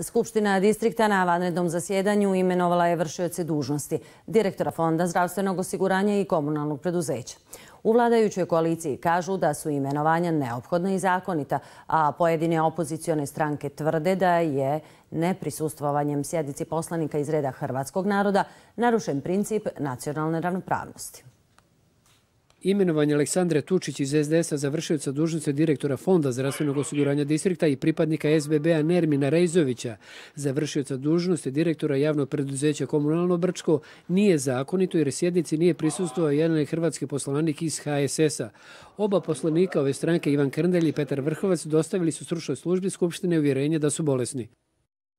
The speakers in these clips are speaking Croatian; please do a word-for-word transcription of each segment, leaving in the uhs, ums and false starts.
Skupština distrikta na vanrednom zasjedanju imenovala je vršioce dužnosti direktora Fonda zdravstvenog osiguranja i komunalnog preduzeća. U vladajućoj koaliciji kažu da su imenovanja neophodna i zakonita, a pojedine opozicione stranke tvrde da je neprisustvovanjem sjednici poslanika iz reda hrvatskog naroda narušen princip nacionalne ravnopravnosti. Imenovanje Aleksandre Tučić iz es de es a za vršioca dužnosti direktora Fonda zdravstvenog osiguranja distrikta i pripadnika es be be a Nermina Rejzovića za vršioca dužnosti direktora javnog preduzeća Komunalno Brčko nije zakonito jer sjednici nije prisustvovao jedan hrvatski poslanik iz ha es es a. Oba poslanika ove stranke, Ivan Krndelj i Petar Vrhovac, dostavili su stručnoj službi Skupštine uvjerenje da su bolesni.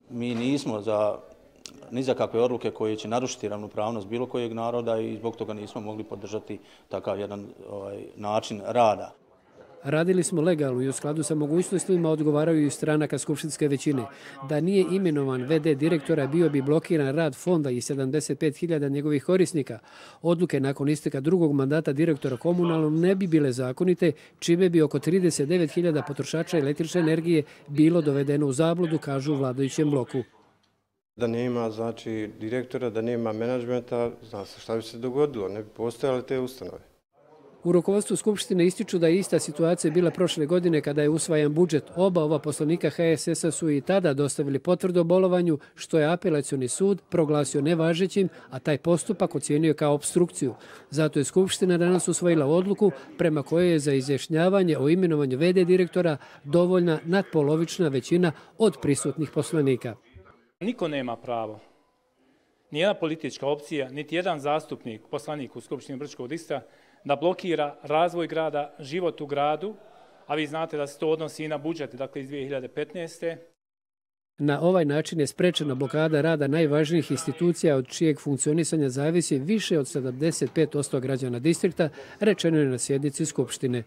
Mi nismo za ni za kakve odluke koje će narušiti ravnopravnost bilo kojeg naroda i zbog toga nismo mogli podržati takav jedan ovaj, način rada. Radili smo legalno i u skladu sa mogućnostima odgovaraju i stranaka skupštinske većine. Da nije imenovan ve de direktora bio bi blokiran rad fonda i sedamdeset pet hiljada njegovih korisnika. Odluke nakon isteka drugog mandata direktora komunalnog ne bi bile zakonite, čime bi oko trideset devet hiljada potrošača električne energije bilo dovedeno u zabludu, kažu u vladajućem bloku. Da nema znači direktora, da nema menadžmenta, zna se šta bi se dogodilo, ne bi postojale te ustanove. U rukovodstvu Skupštine ističu da je ista situacija bila prošle godine kada je usvajan budžet. Oba ova poslanika ha es es a su i tada dostavili potvrdu o bolovanju, što je apelacioni sud proglasio nevažećim, a taj postupak ocijenio kao opstrukciju. Zato je Skupština danas usvojila odluku prema kojoj je za izjašnjavanje o imenovanju ve de direktora dovoljna nadpolovična većina od prisutnih poslanika. Niko nema pravo, nijedna politička opcija, niti jedan zastupnik, poslanik u Skupštini Brčkog distrikta da blokira razvoj grada, život u gradu, a vi znate da se to odnosi i na budžet, dakle iz dvije hiljade petnaeste. Na ovaj način je sprečena blokada rada najvažnijih institucija od čijeg funkcionisanja zavisi više od sedamdeset pet posto građana distrikta, rečeno je na sjednici Skupštine.